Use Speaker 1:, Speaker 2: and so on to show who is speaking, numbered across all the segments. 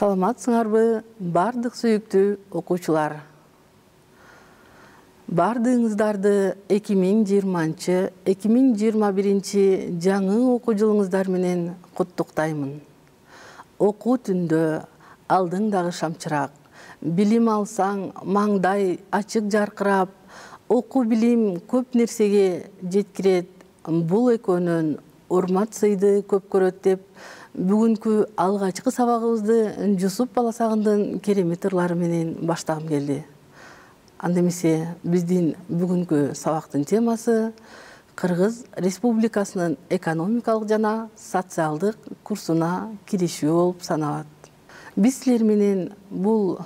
Speaker 1: Саламатсыңарбы, бардык сүйүктүү окуучулар. Бардыгыңыздарды 2020-2021 жаңы окуу жылыңыздар менен куттуктаймын. Окуу түндө алдыңдагы шамчырак, билим алсаң маңдай ачык жаркырап, окуу билим көп нерсеге жеткирет, бул экөөнөн урмат сыйды көп көрөт деп бүгүнкү алгачкы сабагыбызды Жусуп Баласагындын керемет ырлары менен баштагым келди. Анда эмесе биздин бүгүнкү сабактын темасы Кыргыз Республикасынын экономикалык жана социалдык курсуна киришүү болуп саналат. Биз силер менен бул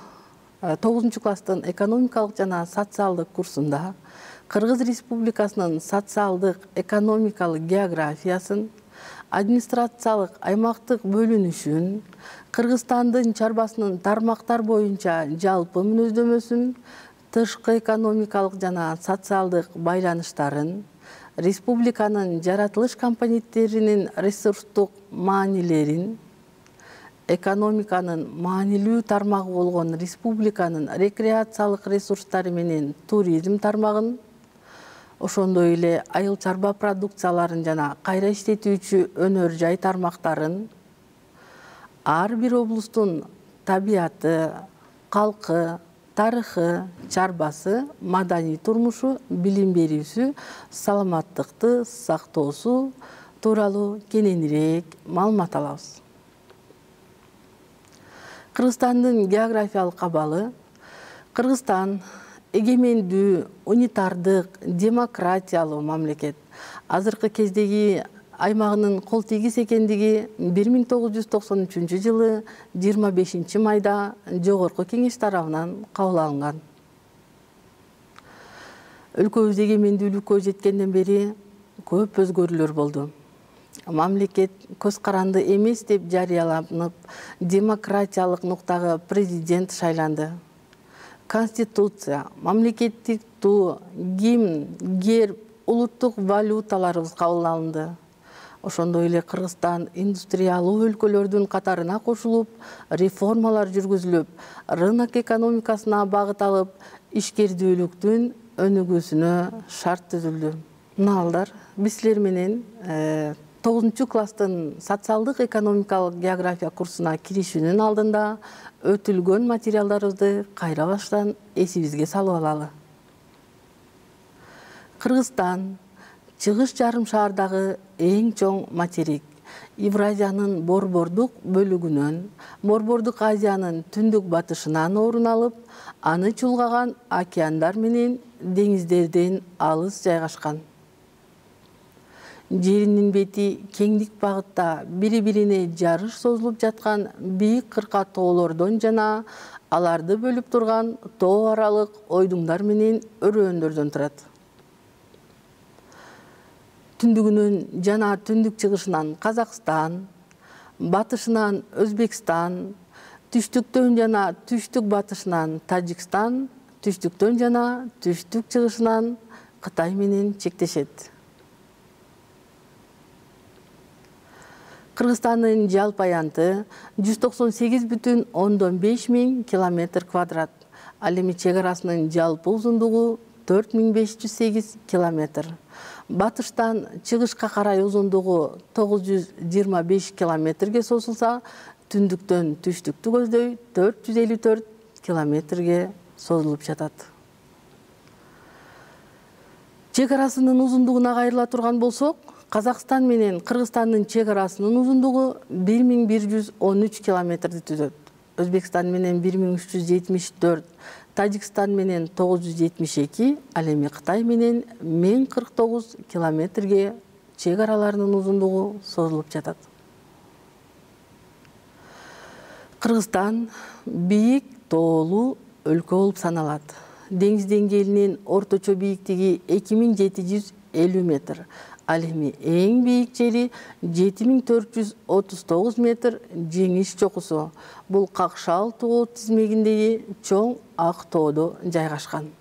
Speaker 1: 9 класстын экономикалык жана социалдык курсунда Кыргыз Республикасынын социалдык экономикалык географиясын, администрациялык аймактык бөлүнүшүн, Кыргызстандын чарбасынын тармактар боюнча жалпы мүнөздөмөсүн, тышкы экономикалык жана социалдык байланыштарын, республиканын жаратылыш компоненттеринин ресурстук маанилерин, экономиканын маанилүү тармагы болгон республиканын рекреациялык ресурстары менен туризм тармагын, ошондой эле айыл чарба продукцияларын жана кайра иштетүүчү өнөр жай тармактарын, ар бир облустун табияты, калкы, тарыхы, чарбасы, маданий турмушу, билим берүүсү, саламаттыкты сактоосу тууралуу кененирээк маалымат алабыз. Кыргызстандын географиялык абалы. Кыргызстан эгемендүү, унитардык, демократиялуу мамлекет. Азыркы кездеги аймагынын кол тийгис экендиги 1993 жылы 25 майда Жогорку Кеңеш тарабынан кабыл алынган. Өлкөбүз эгемендүүлүккө жеткенден бери көп өзгөрүүлөр болду. Мамлекет көз каранды эмес деп жарыяланып, демократиялык нуктагы президент шайланды. Конституция, мамлекеттик туу, гимн, герб, улуттук валюталарыбыз кабыл алынды. Ошондой эле Кыргызстан индустриялуу өлкөлөрдүн катарына кошулуп, реформалар жүргүзүлүп, рынок экономикасына багыт алып, ишкердүүлүктүн өнүгүүсүнө шарт түзүлдү. Мына балдар, биз силер менен 9 класстын социалдык экономикалык география курсуна киришүүнүн алдында өтүлгөн материалдарыбызды кайра баштан эсибизге салып алалы. Кыргызстан чыгыш жарым шаардагы эң чоң материк. Евразиянын борбордук бөлүгүнөн, Борбордук Азиянын түндүк батышынан орун алып, аны чулгаган океандар менен деңиздерден алыс жайгашкан. Жеринин бети кеңдик багытта бири-бирине жарыш созулуп жаткан бийик кырка тоолордон жана аларды бөлүп турган тоо аралык ойдуңдар менен өрөөндөрдөн турат. Түндүгүнөн жана түндүк чыгышынан Казакстан, батышынан Өзбекстан, түштүктөн жана түштүк батышынан Тажикстан, түштүктөн жана түштүк чыгышынан Кытай менен чектешет. Кыргызстандын жалпы аянты 198,5 миң километр квадрат. Ал эми чек арасынын жалпы узундугу 4508 километр. Батыштан чыгышка карай узундугу 925 километрге созулса, түндүктөн түштүктү көздөй 454 километрге созулуп жатат. Чек арасынын узундугуна кайрыла турган болсок, Казакстан менен Кыргызстандын чек арасынын узундугу 1113 километрди түзөт. Өзбекстан менен 1374, Тажикстан менен 972, ал эми Кытай менен 1049 километрге чек араларынын узундугу созулуп жатат. Кыргызстан бийик тоолуу өлкө болуп саналат. Деңиз деңгээлинин орточо бийиктиги 2750 метр. Ал эми эң бийик жери 7439 метр Жеңиш чокусу. Бул Какшал тоо тизмегиндеги чоң ак тоодо жайгашкан.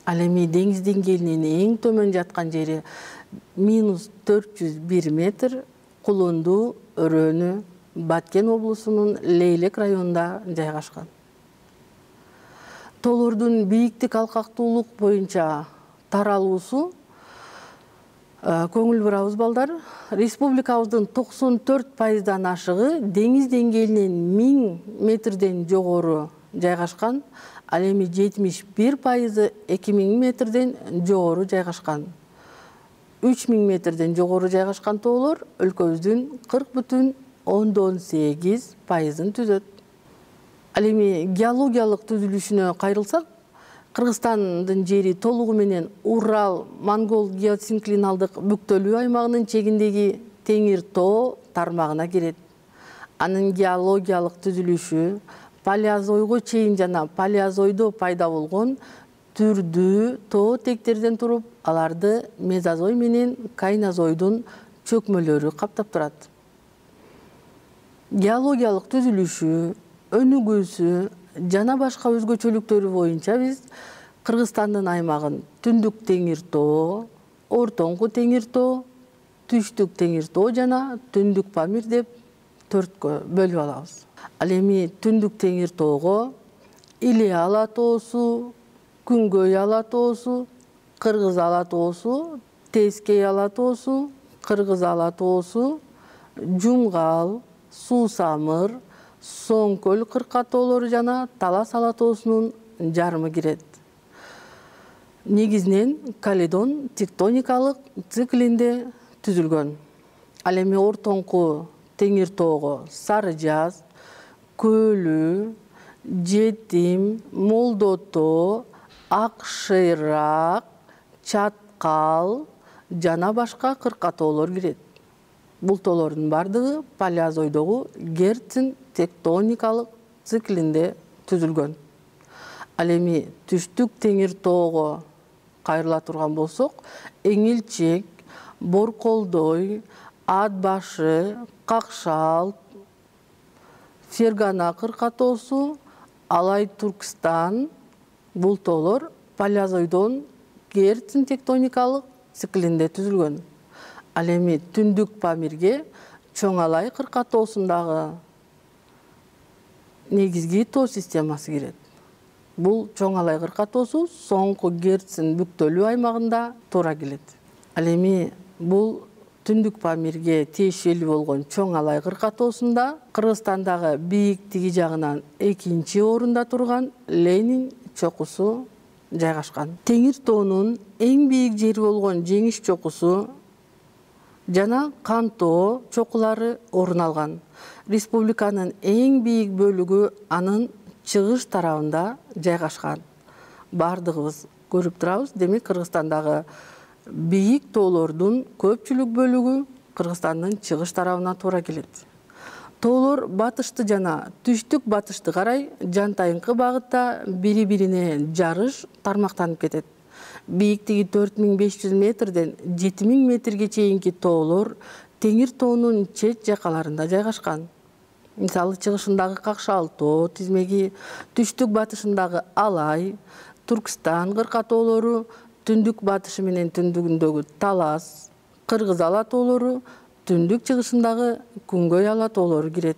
Speaker 1: Ал эми деңиз деңгээлинин эң төмөн жаткан жери -401 метр Кулунду өрөөнү Баткен облусунун Лейлек районунда жайгашкан. Тоолордун бийиктик алкактуулук боюнча таралуусу көңүл бурабыз балдар. Республикабыздын 94% ашыгы деңиз деңгээлинен 1000 метрден жогору жайгашкан. Ал эми 71% 2000 метрден жогору жайгашкан. 3000 метрден жогору жайгашкан тоолор өлкөбүздүн 40,8%-ын түзөт. Ал эми геологиялык түзүлүшүнө кайрылсак, Кыргызстандын жери толугу менен Урал-Монгол геосинклиналдык бүктөлүү аймагынын чегиндеги Теңир тоо тармагына кирет. Анын геологиялык түзүлүшү палеозойго чейин жана палеозойдо пайда болгон түрдүү тоо тектерден туруп, аларды мезозой менен кайнозойдун чөкмөлөрү каптап турат. Геологиялык түзүлүшү, өнүгүүсү жана башка өзгөчөлүктөрү боюнча биз Кыргызстандын аймагын Түндүк Теңир тоо, Ортоңку Теңир тоо, Түштүк Теңир тоо жана Түндүк Памир деп төрткө бөлүп алабыз. Ал эми Түндүк Теңир тоого Иле ала тоосу, Күнгөй ала тоосу, Кыргыз ала тоосу, Тескей ала тоосу, Кыргыз ала тоосу, Жумгал, Суусамыр, Соңкөл кырка тоолору жана Талас ала тоосунун жарымы кирет. Негизинен Каледон тектоникалык циклинде түзүлгөн. Ал эми Ортоңку Теңир тоого Сары Жаз, Көлү, Жетим, Молдо тоо, Ак Шыйрак, Чаткал жана башка кырка тоолор кирет. Бул тоолордун бардыгы палеозойдогу Герцин тектоникалык циклинде түзүлгөн. Ал эми Түштүк Теңир тоого кайрыла турган болсок, Эңилчек, Борколдой, Ат башы, Какшал, Фергана кырка тоосу, Алай Туркстан бул тоолор палеозойдон Герцин тектоникалык циклинде түзүлгөн. Ал эми Түндүк Памирге Чоң Алай кырка тоосундагы негизги тоо системасы кирет. Бул Чоң Алай кырка тоосу соңку Герцин бүктөлүү аймагында туура келет. Ал эми бул Түндүк Памирге тиешелүү болгон Чоң Алай кырка тоосунда Кыргызстандагы бийиктиги жагынан 2-орунда турган Ленин чокусу жайгашкан. Теңир тоонун эң бийик жери болгон Жеңиш чокусу жана Кан тоо чокулары орун алган. Республиканын эң бийик бөлүгү анын чыгыш тарабында жайгашкан. Бардыгыбыз көрүп турабыз, демек Кыргызстандагы бийик тоолордун көпчүлүк бөлүгү Кыргызстандын чыгыш тарабына туура келет. Тоолор батышты жана түштүк батышты карай жантайыңкы багытта бири-бирине жарыш тармактанып кетет. Бийиктиги 4500 метрден 7000 метрге чейинки тоолор Теңир тоонун чет жакаларында жайгашкан. Мисалы, чыгышындагы Какшал тоо тизмеги, түштүк батышындагы Алай, Туркстан кырка тоолору, түндүк батышы менен түндүгүндөгү Талас, Кыргыз ала тоолору, түндүк чыгышындагы Күнгөй ала тоолору кирет.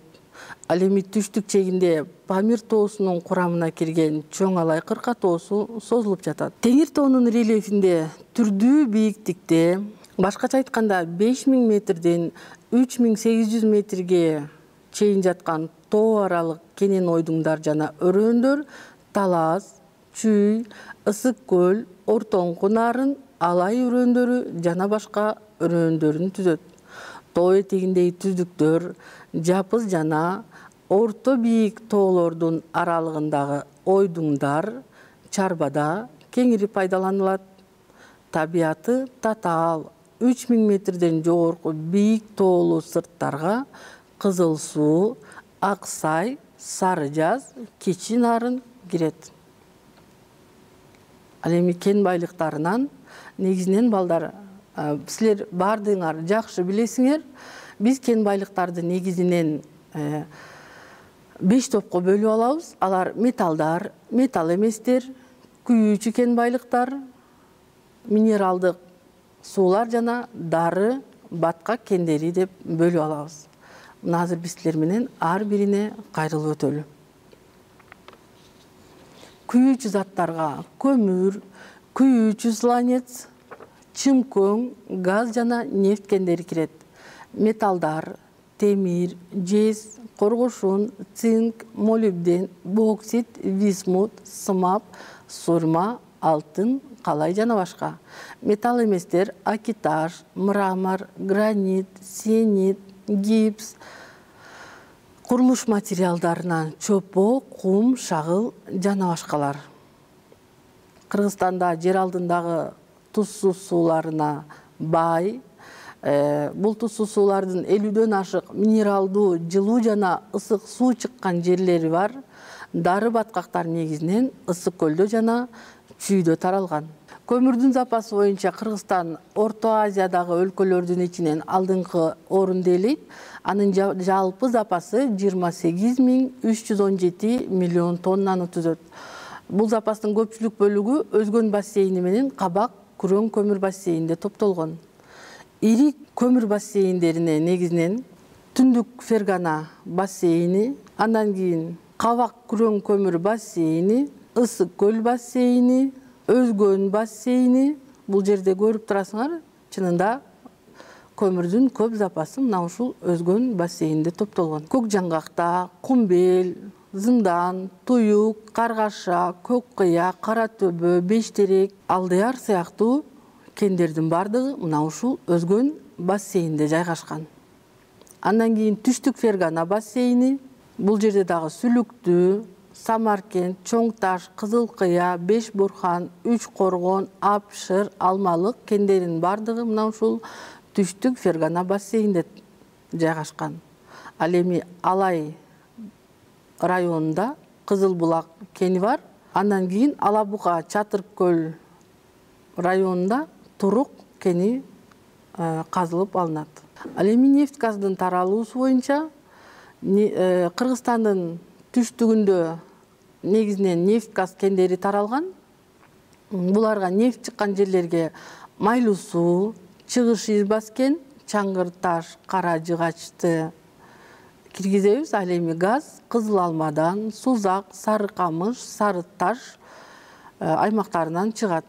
Speaker 1: Ал эми түштүк чегинде Памир тоосунун курамына кирген Чоң Алай кырка тоосу созулуп жатат. Теңир тоонун рельефинде түрдүү бийиктикте, башкача айтканда 5000 метрден 3800 метрге чейин жаткан тоо аралык кенен ойдуңдар жана өрөөндөр Талас, Чүй, Ысык көл, Ортоңку нарын, Алай өрөөндөрү жана башка өрөөндөрүн түзөт. Тоо этегиндеги түздүктөр жапыз жана орто бийик тоолордун аралыгындагы ойдуңдар чарбада кеңири пайдаланылат. Табияты татаал 3000 метрден жогорку бийик тоолуу сырттарга Кызыл суу, Аксай, Сары Жаз, Кичи нарын кирет. Ал эми кен байлыктарынан негизинен балдар, силер бардыгыңар жакшы билесиңер, биз кен байлыктарды негизинен 5 топко бөлүп алабыз. Алар металлдар, металл эместер, күйүүчү кен байлыктар, минералдык суулар жана дары, баткак кендери деп бөлүп алабыз. азыр биз силер менен ар бирине кайрылып өтөлү. Күйүүчү заттарга көмүр, күйүүчү сланец, чымкөң, газ жана нефт кендери кирет. Металлдар, темир, жез, коргошун, цинк, молибден, боксит, висмут, сымап, сурма, алтын, калай жана башка. Металл эместер акитаж, мрамор, гранит, сиенит, гипс, курулуш материалдарынан чопо, кум, шагыл жана башкалар. Кыргызстанда жер алдындагы тузсуз сууларына бай. Бул тузсуз суулардын 50дөн ашык минералдуу, жылуу жана ысык суу чыккан жерлери бар. Дары баткактар негизинен ысык көлдө жана чүйдө таралган. Көмүрдүн запасы боюнча Кыргызстан Орто Азиядагы өлкөлөрдүн ичинен алдыңкы орунду ээлейт. Анын жалпы запасы 28.317 миллион тоннаны түзөт. Бул запастын көпчүлүк бөлүгү Өзгөн бассейни менен Кабак Күрөң көмүр бассейнинде топтолгон. Ири көмүр бассейндерине негизинен Түндүк Фергана бассейни, андан кийин Кабак Күрөң көмүр бассейни, Ысык көл бассейни, Өзгөн бассейни. Бул жерде көрүп турасыңар, чынында көмүрдүн көп запасы мына ушул Өзгөн бассейнинде топтолгон. Көк жаңгакта, Кумбел, Зындан, Туюк, Каргаша, Көк кыя, Кара төбө, Бештерек, Алдыяр сыяктуу кендердин бардыгы мына ушул Өзгөн бассейнинде жайгашкан. Андан кийин Түштүк Фергана бассейни. Бул жерде дагы Сүлүктүү, Самаркент, Чоң Таш, Кызыл кыя, Беш Бурхан, Үч Коргон, Апшыр, Алмалык кендеринин бардыгы мына ушул Түштүк Фергана бассейнинде жайгашкан. Ал эми Алай районунда Кызыл Булак кени бар. Андан кийин Алабуга, Чатыр көл районунда Турук кени казылып алынат. Ал эми нефть газдын таралуусу боюнча Кыргызстандын түштүгүндө негизинен нефть газ кендери таралган. Буларга нефть чыккан жерлерге Майлуу суу, Чыгыш Ирбас кен, Чаңгыр таш, Кара жыгачты киргизебиз. Ал эми газ Кызыл Алмадан, Сузак, Сары Камыш, Сары таш аймактарынан чыгат.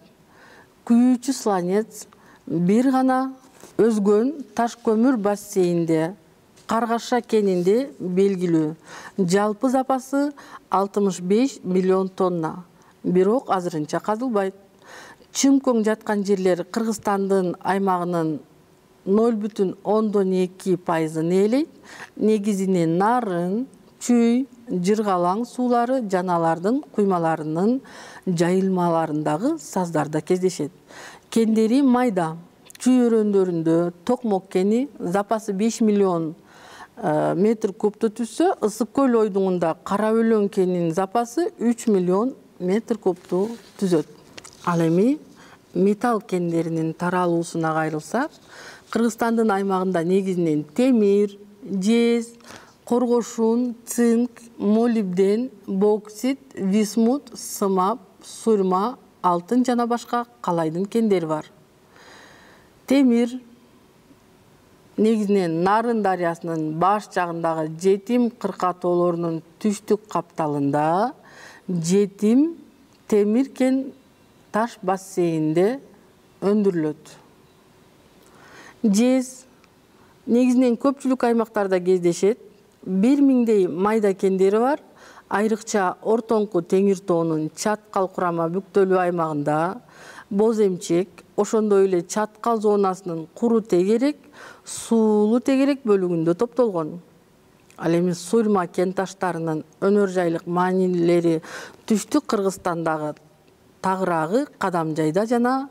Speaker 1: Күйүүчү сланец бир гана Өзгөн таш көмүр бассейнинде Каргаша кенинде белгилүү. Жалпы запасы 65 миллион тонна. Бирок азырынча казылбайт. Чымкөң жаткан жерлер Кыргызстандын аймагынын 0,2% ээлейт. Негизинен нарын, чүй, жыргалаң суулары жана алардын куймаларынын жайылмаларындагы саздарда кездешет. Кендери майда. Чүй өрөөндөрүндө Токмок кени запасы 5 миллион метр кубту түзсө, Ысык көл ойдуңунда Кара өлөң кенинин запасы 3 миллион метр кубту түзөт. Ал эми металл кендеринин таралуусуна кайрылсак, Кыргызстандын аймагында негизинен темир, жез, коргошун, цинк, молибден, боксит, висмут, сымап, сурма, алтын жана башка калайдын кендери бар. Темир негизинен Нарын дарыясынын баш жагындагы Жетим кыркатоолорунун түштүк капталында Жетим темир кен таш бассейнинде өндүрүлөт. Жез негизинен көпчүлүк аймактарда кездешет. 1000дей майда кендери бар. Айрыкча ортоңку Теңир тоонун Чаткал курама бүктөлүү аймагында, Боз эмчек, ошондой эле Чаткал зонасынын Куру тегерек, Суулуу тегерек бөлүгүндө топтолгон. Ал эми Сурма кен таштарынын өнөр жайлык маанилери түштүк Кыргызстандагы Тагыраагы, Кадамжайда жана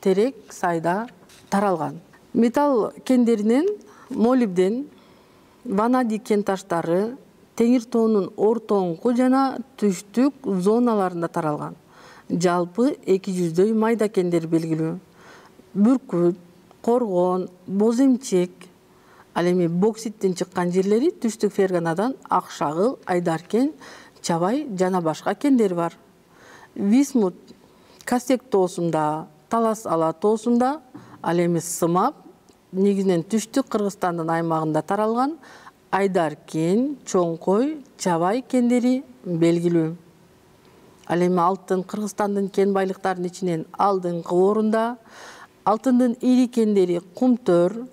Speaker 1: Терек Сайда таралган. Металл кендеринен молибден, ванадий кен таштары Теңир тоонун ортоңку жана түштүк зоналарында таралган. Жалпы 200дөй майда кендер белгилүү. Бүркүт, Коргон, Боз эмчек. Ал эми бокситтин чыккан жерлери Түштүк Ферганадан Акшагыл, Айдаркен, Чабай жана башка кендер бар. Висмут Касек тоосунда, Талас Ала тоосунда, ал эми сымап негизинен түштүк Кыргызстандын аймагында таралган. Айдар кен, Чоңкой, Чабай кендери белгилүү. Ал эми алтын Кыргызстандын кен байлыктарынын ичинен алдыңкы орунда. Алтындын ири кендери Кумтөр,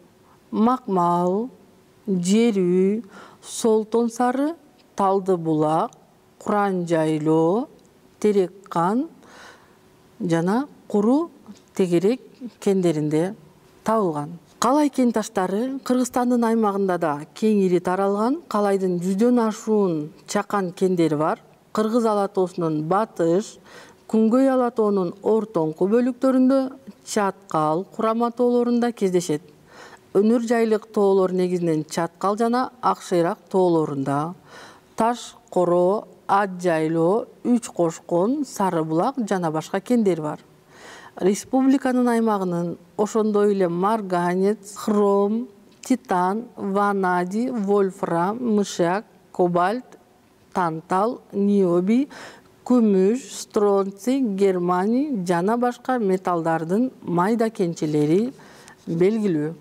Speaker 1: Макмал, Жерүү, Солтон Сары, Талды Булак, Куран Жайлоо, Терек Кан жана Куру Тегерек кендеринде табылган. Калай кен таштары Кыргызстандын аймагында да кеңири таралган. Калайдын 100дөн ашуун чакан кендери бар. Кыргыз ала тоосунун батыш, күнгөй ала тоонун ортоңку бөлүктөрүндө, Чаткал, Курама тоолорунда кездешет. Өнөр жайлык тоолор негизинен Чаткал жана Акшыйрак тоолорунда, Таш Коро, Ат Жайлоо, Үч Кошкон, Сары Булак жана башка кендер бар. Республиканын аймагынын ошондой эле марганец, хром, титан, ванадий, вольфрам, мышак, кобальт, тантал, ниоби, күмүш, стронций, германий жана башка металлдардын майда кенчелери белгилүү.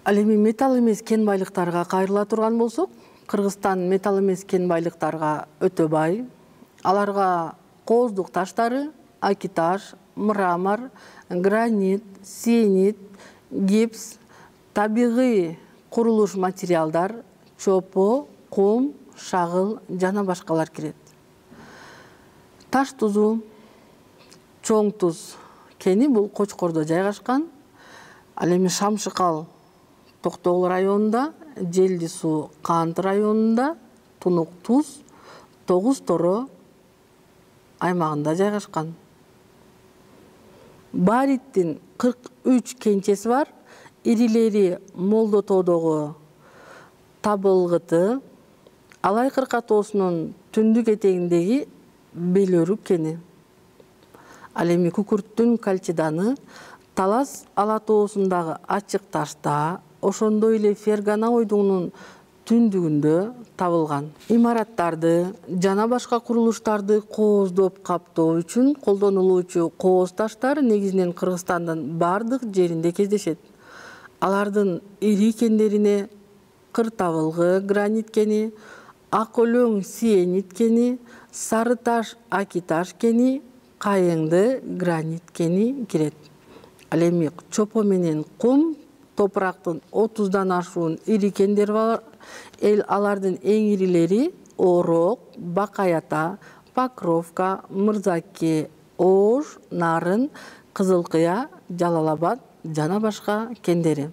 Speaker 1: Ал эми металл эмес кен байлыктарга кайрыла турган болсок, Кыргызстан металл эмес кен байлыктарга өтө бай. Аларга кооздук таштары, акиташ, мрамор, гранит, сиенит, гипс, табигый курулуш материалдар, чопо, кум, шагыл жана башкалар кирет. Таш тузу, чоң туз кени бул Кочкордо жайгашкан. Ал эми Шамшыкал Токтогул районунда, Желди суу Кант районунда, Тунук туз, Тогуз Торо аймагында жайгашкан. Бариттин 43 кенчеси бар. Ирилери Молдо тоодогу Табылгыты, Алай Кырка тоосунун түндүк этегиндеги Белөрүк кени. Ал эми Күкүрттүн Кальчиданы, Талас ала тоосундагы ачык ташта, ошондой эле Фергана ойдугунун түндүгүндө табылган. Имараттарды жана башка курулуштарды кооздоп каптоо үчүн колдонулуучу кооз таштар негизинен Кыргызстандын бардык жеринде кездешет. Алардын ири кендерине Кыр табылгы гранит кени, Ак өлөң сиенит кени, Сары таш акиташ кени, Кайыңды гранит кени кирет. Ал эми чопо менен кум топурактын 30дан ашуун ири кендери бар. Алардын эң ирилери Орок, Бакаята, Покровка, Мырзаке, Ош, Нарын, Кызылкыя, Жалал-Абад жана башка кендери.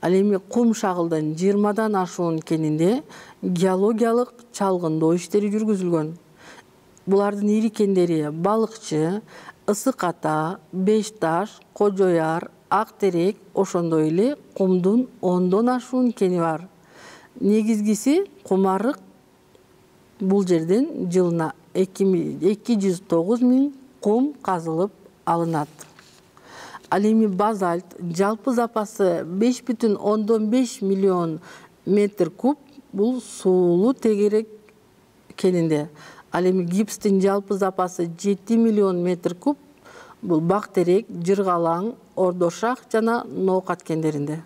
Speaker 1: Ал эми кум шагылдын 20дан ашуун кенинде геологиялык чалгындоо иштери жүргүзүлгөн. Булардын ири кендери Балыкчы, Ысык Ата, Бешташ, Кожояр, Ак Терек, ошондой эле кумдун 10дон ашуун кени бар. Негизгиси Кумарык. Бул жерден жылына 209 000 кум казылып алынат. Ал эми базальт жалпы запасы 5,5 миллион метр куб бул суулуу тегерек кенинде. Ал эми гипстин жалпы запасы 7 миллион метр куб бул Бактерек, Жыргалаң, Ордошак жана Ноокат кендеринде.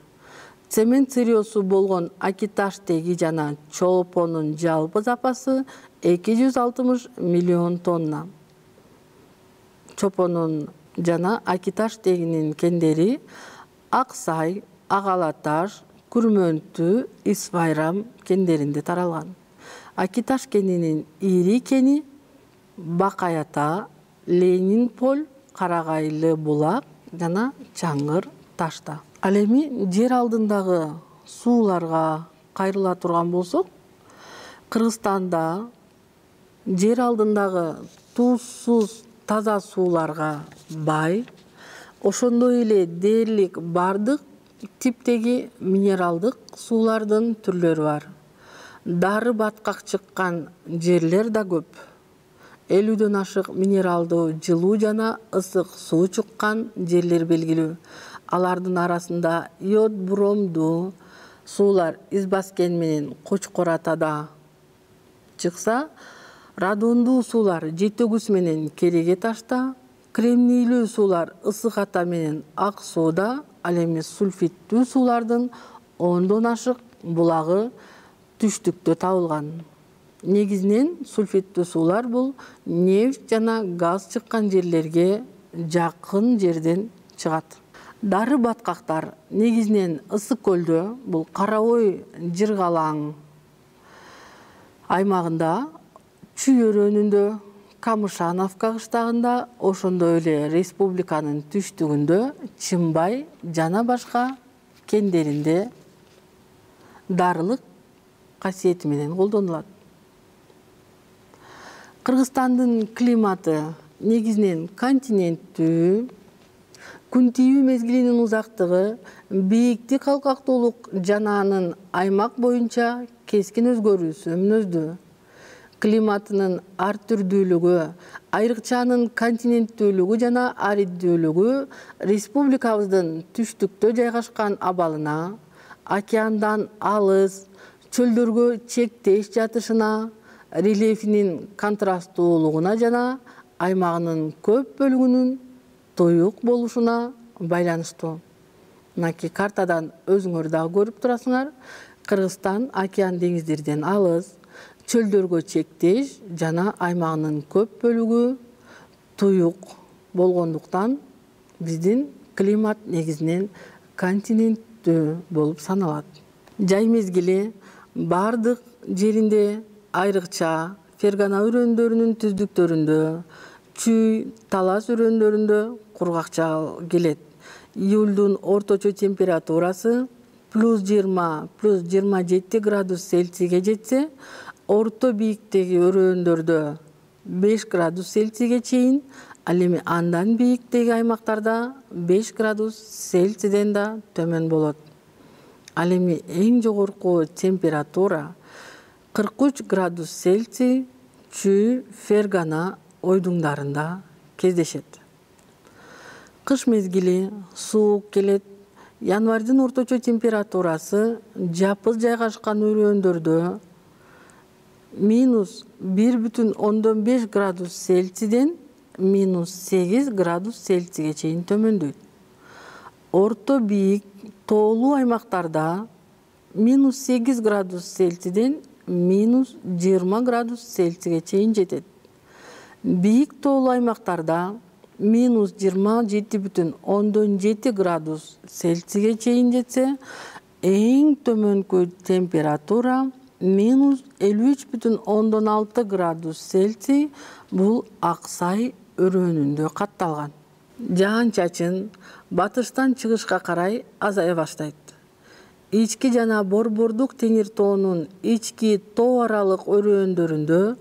Speaker 1: Цемент сырьёсу болгон акиташ теги жана чолпонун жалпы запасы 260 миллион тонна. Чопонун жана акиташ тегинин кендери Аксай, Ак Ала Таш, Күрмөнтү, Исбайрам кендеринде таралган. Акиташ кенинин ири кени Бакаята, Ленинполь, Карагайлы Булак жана Чаңгыр ташта. Ал эми жер алдындагы сууларга кайрыла турган болсок, Кыргызстанда жер алдындагы туузсуз таза сууларга бай, ошондой эле дээрлик бардык типтеги минералдык суулардын түрлөрү бар. Дары баткак чыккан жерлер да көп. 50дөн ашык минералдуу жылуу жана ысык суу чыккан жерлер белгилүү. Алардын арасында йод бромдуу суулар Избаскен менен Кочкор Атада чыкса, радондуу суулар Жетөгүс менен Кереге ташта, кремнийлүү суулар Ысык Ата менен Ак сууда, ал эми сульфиттүү суулардын 10дон ашык булагы түштүктө табылган. Негизинен сульфиттүү суулар бул нефть жана газ чыккан жерлерге жакын жерден чыгат. Дары баткактар негизинен ысык көлдө, бул Кара Ой жыргалаң аймагында, Чүй өрөөнүндө, Камышановка кыштагында, ошондой эле республиканын түштүгүндө, Чымбай жана башка кендеринде дарылык касиети менен колдонулат. Кыргызстандын климаты негизинен континенттүү, күн тийүү мезгилинин узактыгы, бийиктик калкактуулук жана анын аймак боюнча кескин өзгөрүүсү мүнөздүү. Климатынын ар түрдүүлүгү, айрыкча анын континенттүүлүгү жана ариддүүлүгү республикабыздын түштүктө жайгашкан абалына, океандан алыс, чөлдөргө чектеш жатышына, рельефинин контрасттуулугуна жана аймагынын көп бөлүгүнүн туюк болушуна байланыштуу. Мынакей картадан өзүңөр дагы көрүп турасыңар. Кыргызстан океан деңиздерден алыс, чөлдөргө чектеш жана аймагынын көп бөлүгү туюк болгондуктан биздин климат негизинен континенттүү болуп саналат. Жай мезгили бардык жеринде, айрыкча Фергана өрөөндөрүнүн түздүктөрүндө, Чүй, Талас өрөөндөрүндө кургакча келет. Июлдун орточо температурасы +20, +27 градус Цельсийге жетсе, орто бийиктеги өрөөндөрдө 5 градус Цельсийге чейин, ал эми андан бийиктеги аймактарда 5 градус Цельсийден да төмөн болот. Ал эми эң жогорку температура 43 градус Цельсий Чүй, Фергана ойдуңдарында кездешет. Кыш мезгили суук келет. Январдын орточо температурасы жапыз жайгашкан өрөөндөрдө -1,5 градус Цельсийден -8 градус Цельсийге чейин төмөндөйт. Орто бийик тоолуу аймактарда -8 градус Цельсийден -20 градус Цельсийге чейин жетет. Бийик тоолуу аймактарда -27,7 градус Цельсийге чейин жетсе, эң төмөнкү температура -53,6 градус Цельсий бул Аксай өрөөнүндө катталган. Жаан-чачын батыштан чыгышка карай азая баштайт. Ички жана Борбордук теңир тоонун ички тоо аралык өрөөндөрүндө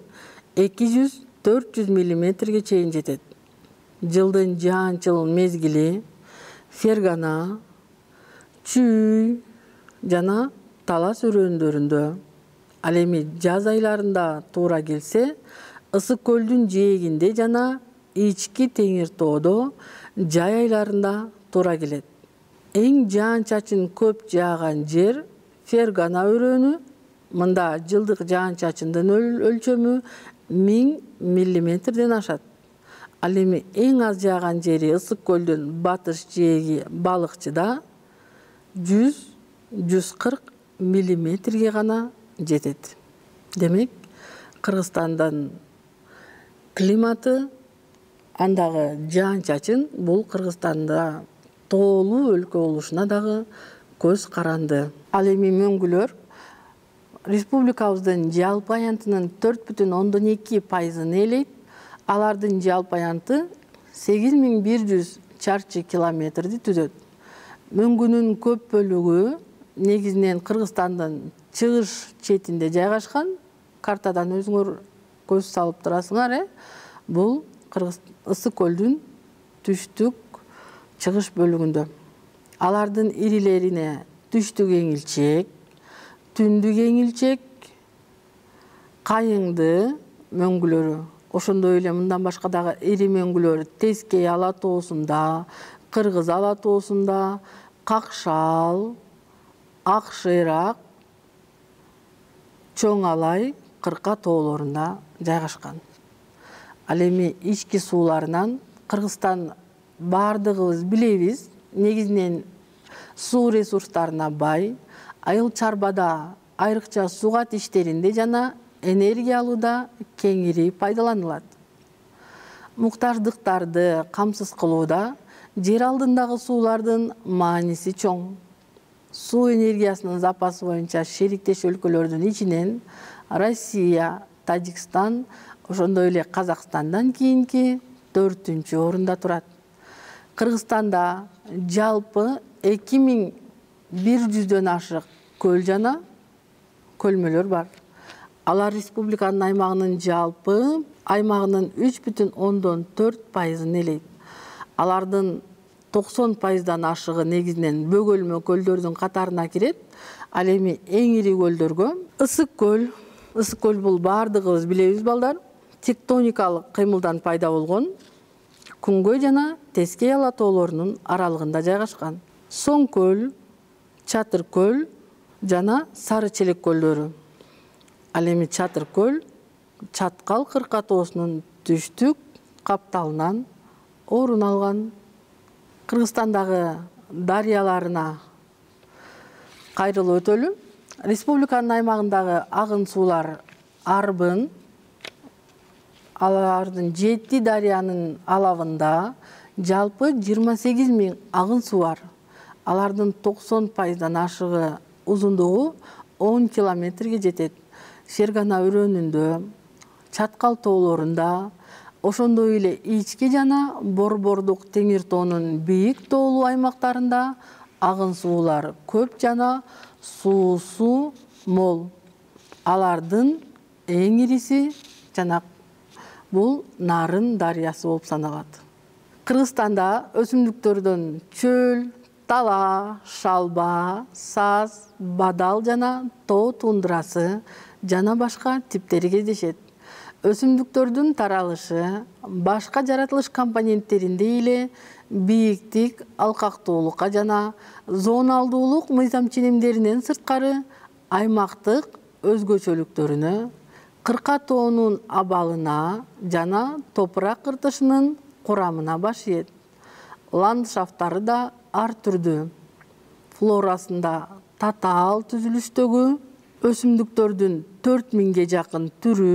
Speaker 1: 200-400 мм чейин жетет. Жылдын жаанчыл мезгили Фергана, Чүй жана Талас өрөөндөрүндө, ал эми жаз айларында туура келсе, Ысык көлдүн жээгинде жана ички теңир тоодо жай айларында туура келет. Эң жаан-чачын көп жааган жер Фергана өрөөнү. Мында жылдык жаан-чачындын өлчөмү 1000 мм ашат. Ал эми эң аз жааган жери Ысык көлдүн батыш жээги Балыкчыда 100-140 мм гана жетет. Демек, Кыргызстандын климаты, андагы жаан-чачын бул Кыргызстанда тоолуу өлкө болушуна дагы көз каранды. Ал эми мөңгүлөр республикабыздын жалпы аянтынын 4,2% ээлейт. Алардын жалпы аянты 8100 чарчы километрди түзөт. Мөңгүнүн көп бөлүгү негизинен Кыргызстандын чыгыш четинде жайгашкан. Картадан өзүңөр көз салып турасыңар, бул Ысык көлдүн түштүк чыгыш бөлүгүндө. Алардын ирилерине түштүк эңилчек, түндүк эңилчек, кайыңды мөңгүлөрү, ошондой эле мындан башка дагы ири мөңгүлөр Тескей ала тоосунда, Кыргыз ала тоосунда, Какшал, Ак Шыйрак, Чоң Алай, Кырка тоолорунда жайгашкан. Ал эми ички сууларынан Кыргызстан бардыгыбыз билебиз, негизинен суу ресурстарына бай. Айыл чарбада айрыкча сугат иштеринде жана энергия алууда кеңири пайдаланылат. Муктаждыктарды камсыз кылууда жер алдындагы суулардын мааниси чоң. Суу энергиясынын запасы боюнча шериктеш өлкөлөрдүн ичинен Россия, Тажикстан, ошондой эле Казакстандан кийинки 4-орунда турат. Кыргызстанда жалпы 2100дөн ашык көл жана көлмөлөр бар. Алар республиканын аймагынын жалпы аймагынын 3,4%-ын ээлейт. Алардын 90%дан ашыгы негизинен бөгөлмө көлдөрдүн катарына кирет. Ал эми эң ири көлдөргө Ысык көл. Ысык көл бул баардыгыбыз билебиз балдар. Тектоникалык кыймылдан пайда болгон Күнгөй жана Тескей ала тоолорунун аралыгында жайгашкан. Соң көл, Чатыр көл жана Сары Челек көлдөрү. Ал эми Чатыр көл Чаткал кырка тоосунун түштүк капталынан орун алган. Кыргызстандагы дарыяларына кайрылып өтөлү. Республиканын аймагындагы агын суулар Арбын, алардын 7 дарыянын алабында жалпы 28 000 агын суу бар. Алардын 90%дан ашыгы узундугу 10 километрге жетет. Фергана өрөөнүндө, Чаткал тоолорунда, ошондой эле ички жана Борбордук Теңир тоонун бийик тоолуу аймактарында агын суулар көп жана суусу мол. Алардын эң ириси жана бул Нарын дарыясы болуп саналат. Кыргызстанда өсүмдүктөрдөн чөл, тала, шалба, саз, бадал жана тоо тундрасы жана башка типтери кездешет. Өсүмдүктөрдүн таралышы башка жаратылыш компоненттеринде эле бийиктик, алкактуулукка жана зоналдуулук мыйзам ченемдеринен сырткары аймактык өзгөчөлүктөрүнө, кырка тоонун абалына жана топурак кыртышынын курамына баш ийет. Ландшафттары да ар түрдүү. Флорасында татаал түзүлүштөгү өсүмдүктөрдүн 4000ге жакын түрү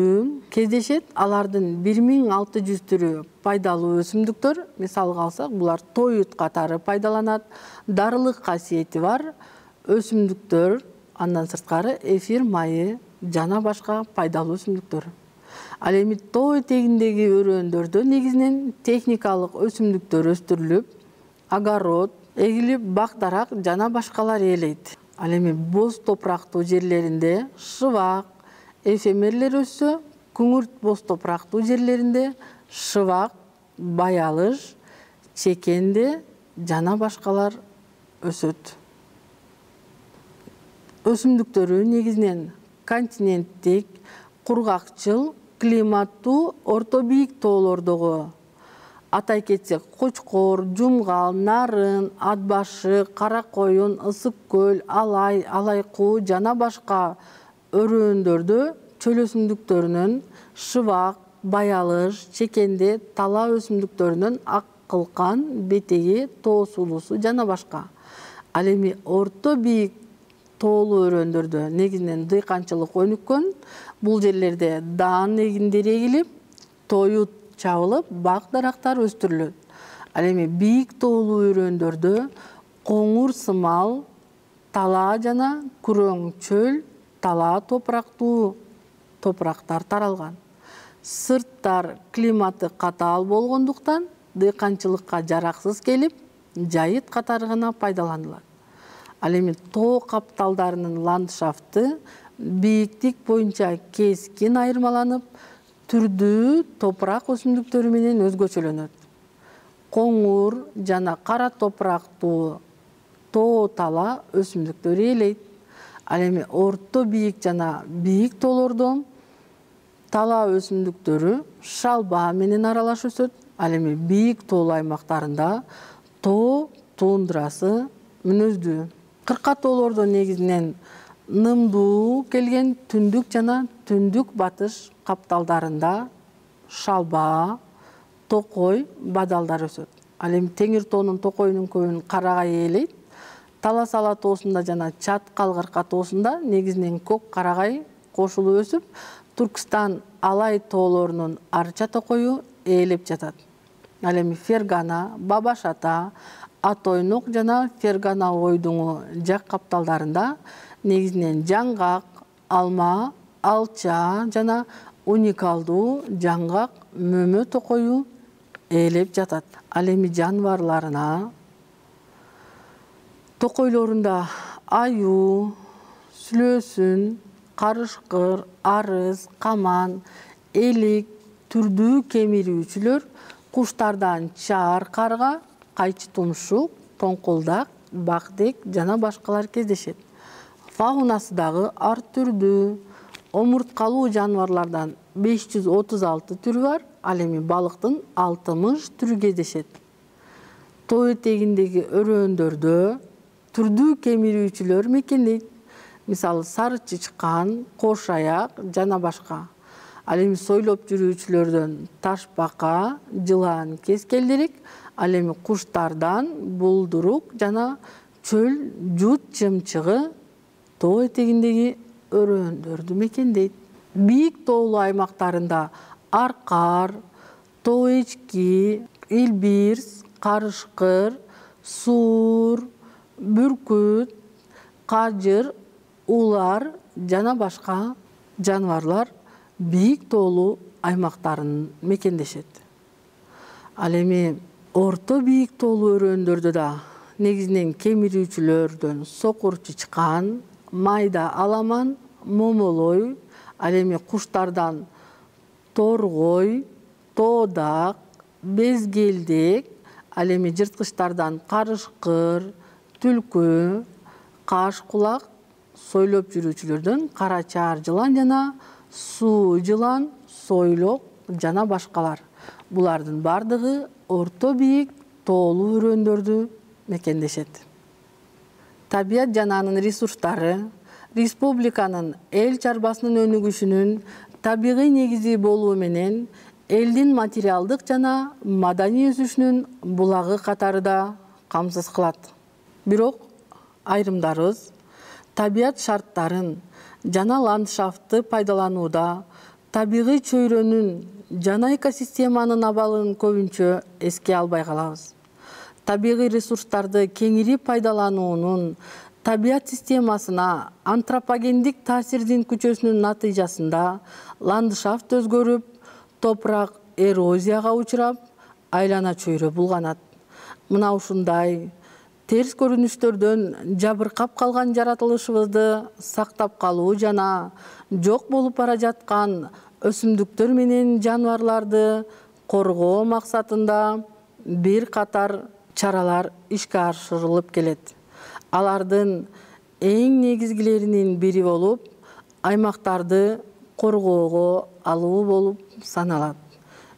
Speaker 1: кездешет. Алардын 1600 түрү пайдалуу өсүмдүктөр. Мисалга алсак, булар тоют катары пайдаланат. Дарылык касиети бар өсүмдүктөр, андан сырткары эфир майы жана башка пайдалуу өсүмдүктөр. Ал эми тоо этегиндеги өрөөндөрдө негизинен техникалык өсүмдүктөр өстүрүлүп, огород, эгилип бак-дарак жана башкалар ээлейт. Ал эми боз топурактуу жерлеринде шыбак, эфемерлер өссө, күңүрт боз топурактуу жерлеринде шыбак, баялыш, чекенде жана башкалар өсөт. Өсүмдүктөрү негизинен континенттик, кургакчыл, климаттуу, орто бийик тоолордогу атай кетсек, Кочкор, Жумгал, Нарын, Ат башы, Кара коюн, Ысык көл, Алай, Алайкуу жана башка өрөөндөрдө чөл өсүмдүктөрүнөн шыбак, баялыш, чекенде, тала өсүмдүктөрүнөн ак кылкан, бетеги, тоо сулуусу жана башка. Ал эми орто бийик тоолуу өрөөндөрдө негизинен дыйканчылык өнүккөн. Бул жерлерде даан эгиндери эгилип, тоют чабылып, бак-дарактар өстүрүлөт. Ал эми бийик тоолуу өрөөндөрдө коңур сымал, тала жана күрөң чөл, тала топурактуу топурактар таралган. Сырттар климаты катаал болгондуктан дыйканчылыкка жараксыз келип, жайыт катары гана пайдаланылат. Ал эми тоо капталдарынын ландшафты бийиктик боюнча кескин айырмаланып, түрдүү топурак өсүмдүктөрү менен өзгөчөлөнөт. Коңур жана кара топурактуу тоо тала өсүмдүктөрү ээлейт. Ал эми орто бийик жана бийик тоолордо тала өсүмдүктөрү шалба менен аралаш өсөт. Ал эми бийик тоолуу аймактарында тоо тундрасы мүнөздүү. Кырка тоолордо негизинен нымдуу келген түндүк жана түндүк батыш капталдарында шалба, токой, бадалдар өсөт. Ал эми Теңир тоонун токойунун көбүн карагай ээлейт. Талас ала тоосунда жана Чаткал кырка тоосунда негизинен көк карагай кошулуп өсүп, Түркстан Алай тоолорунун арча токою ээлеп жатат. Ал эми Фергана, Бабаш Ата, Атойнок жана Фергана ойдуңу жак капталдарында негизинен жаңгак, алма, алча жана уникалдуу жаңгак мөмө токою ээлеп жатат. Ал эми жаныбарларына токойлорунда аюу, сүлөөсүн, карышкыр, арыз, каман, элик, түрдүү кемирүүчүлөр, куштардан чаар карга, кайчы тумшук, тоңкулдак, бакдек жана башкалар кездешет. Фаунасы дагы ар түрдүү. Омурткалуу жаныбарлардан 536 түрү бар, ал эми балыктын 60 түрү кездешет. Тоо этегиндеги өрөөндөрдө түрдүү кемирүүчүлөр мекендейт. Мисалы сары чычкан, кош аяк жана башка. Ал эми сойлоп жүрүүчүлөрдөн ташбака, жылан, кескелдирик, ал эми куштардан булдурук жана чөл жут жымчыгы тоо этегиндеги өрөөндөрдү мекендейт. Бийик тоолуу аймактарында аркар, тоо эчки, илбирс, карышкыр, суур, бүркүт, кажыр, улар жана башка жаныбарлар бийик тоолуу аймактарын мекендешет. Ал эми орто бийик тоолуу өрөөндөрдө да негизинен кемирүүчүлөрдөн сокур чычкан, майда аламан, момолой, ал эми куштардан торгой, тоодак, безгелдек, ал эми жырткычтардан карышкыр, түлкү, каш кулак, сойлоп жүрүүчүлөрдөн кара чаар жылан жана суу жылан, сойлок жана башкалар. Булардын бардыгы орто бийик тоолуу өрөөндөрдү мекендешет. Табият жананын ресурстары республиканын эл чарбасынын өнүгүшүнүн табигый негизи болуу менен элдин материалдык жана маданий өсүшүнүн булагы катары да камсыз кылат. Бирок айрымдарыбыз табият шарттарын жана ландшафтты пайдаланууда табигый чөйрөнүн жана экосистеманын абалын көбүнчө эске албай калабыз. Табигый ресурстарды кеңири пайдалануунун табият системасына антропогендик таасирдин күчөсүнүн натыйжасында ландшафт өзгөрүп, топурак эрозияга учурап, айлана чөйрө булганат. Мына ушундай терс көрүнүштөрдөн жабыркап калган жаратылышыбызды сактап калуу жана жок болуп бара жаткан өсүмдүктөр менен жаныбарларды коргоо максатында бир катар чаралар ишке ашырылып келет. Алардын эң негизгилеринин бири болуп, аймактарды коргоого алуу болуп саналат.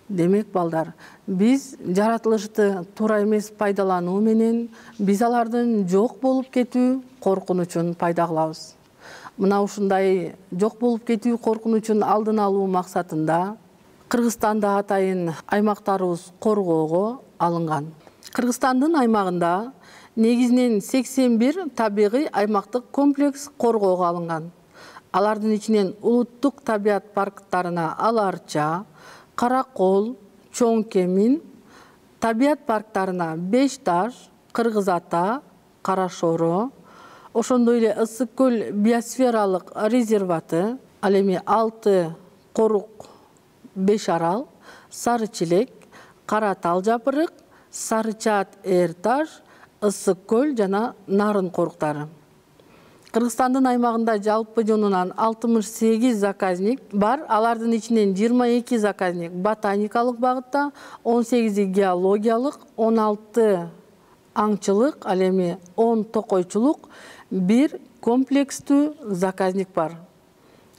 Speaker 1: Демек балдар, биз жаратылышты туура эмес пайдалануу менен биз алардын жок болуп кетүү коркунучун пайда кылабыз. Мына ушундай жок болуп кетүү коркунучун алдын алуу максатында Кыргызстанда атайын аймактарыбыз коргоого алынган. Кыргызстандын аймагында негизинен 81 табигый аймактык комплекс коргоого алынган. Алардын ичинен улуттук табият парктарына Ала-Арча, Каракол, Чоң Кемин, табият парктарына Беш Таш, Кыргыз Ата, Кара Шоро, ошондой эле Ысык көл биосфералык резерваты, ал эми 6 корук, 5 арал, Сары Челек, Кара Тал жапырык, Сары Чаат Эрташ, Ысык көл жана Нарын коруктары. Кыргызстандын аймагында жалпы жонунан 68 заказник бар. Алардын ичинен 22 заказник ботаникалык багытта, 18 геологиялык, 16 аңчылык, ал эми 10 токойчулук, бир комплекстүү заказник бар.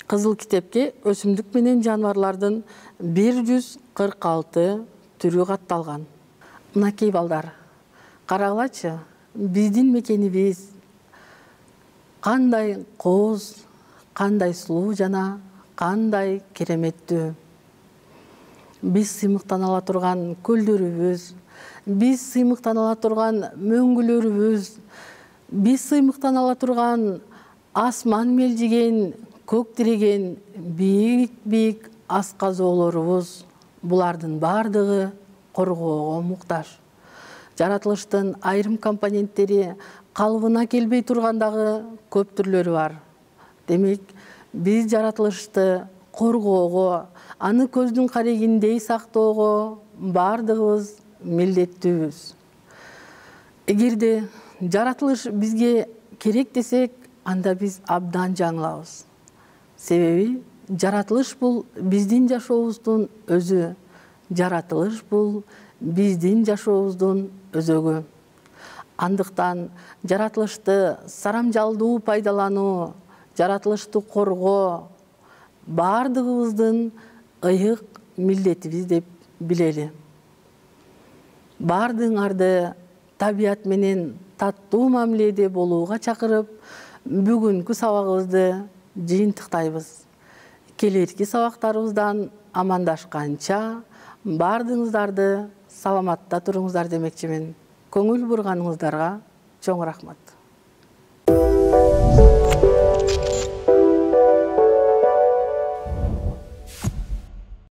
Speaker 1: Кызыл китепке өсүмдүк менен жаныбарлардын 146 түрү катталган. Мынакей балдар, карагылачы, биздин мекенибиз кандай кооз, кандай сулуу жана кандай кереметтүү. Биз сыймыктана ала турган көлдөрүбүз, биз сыймыктана ала турган мөңгүлөрүбүз, Биз сыймыктан ала турган асман мелжиген, көк тиреген бийик асказоолорубуз, булардын бардыгы коргоого муктаж. Жаратылыштын айрым компоненттери калыбына келбей тургандагы көп түрлөрү бар. Демек, биз жаратылышты коргоого, аны көздүн карегиндей сактоого бардыгыбыз милдеттүүбүз. Эгерде жаратылыш бизге керек десек, анда биз абдан жаңылабыз. Себеби жаратылыш бул биздин жашообуздун өзү. Жаратылыш бул биздин жашообуздун өзөгү. Андыктан жаратылышты сарамжалдуу пайдалануу, жаратылышты коргоо бардыгыбыздын ыйык милдетибиз деп билели. Бардыгыңарды табият менен таттуу мамиледе болууга чакырып, бүгүнкү сабагыбызды жыйынтыктайбыз. Келерки сабактарыбыздан амандашканча бардыгыңыздарды саламатта туруңуздар демекчимин. Көңүл бурганыңыздарга чоң рахмат.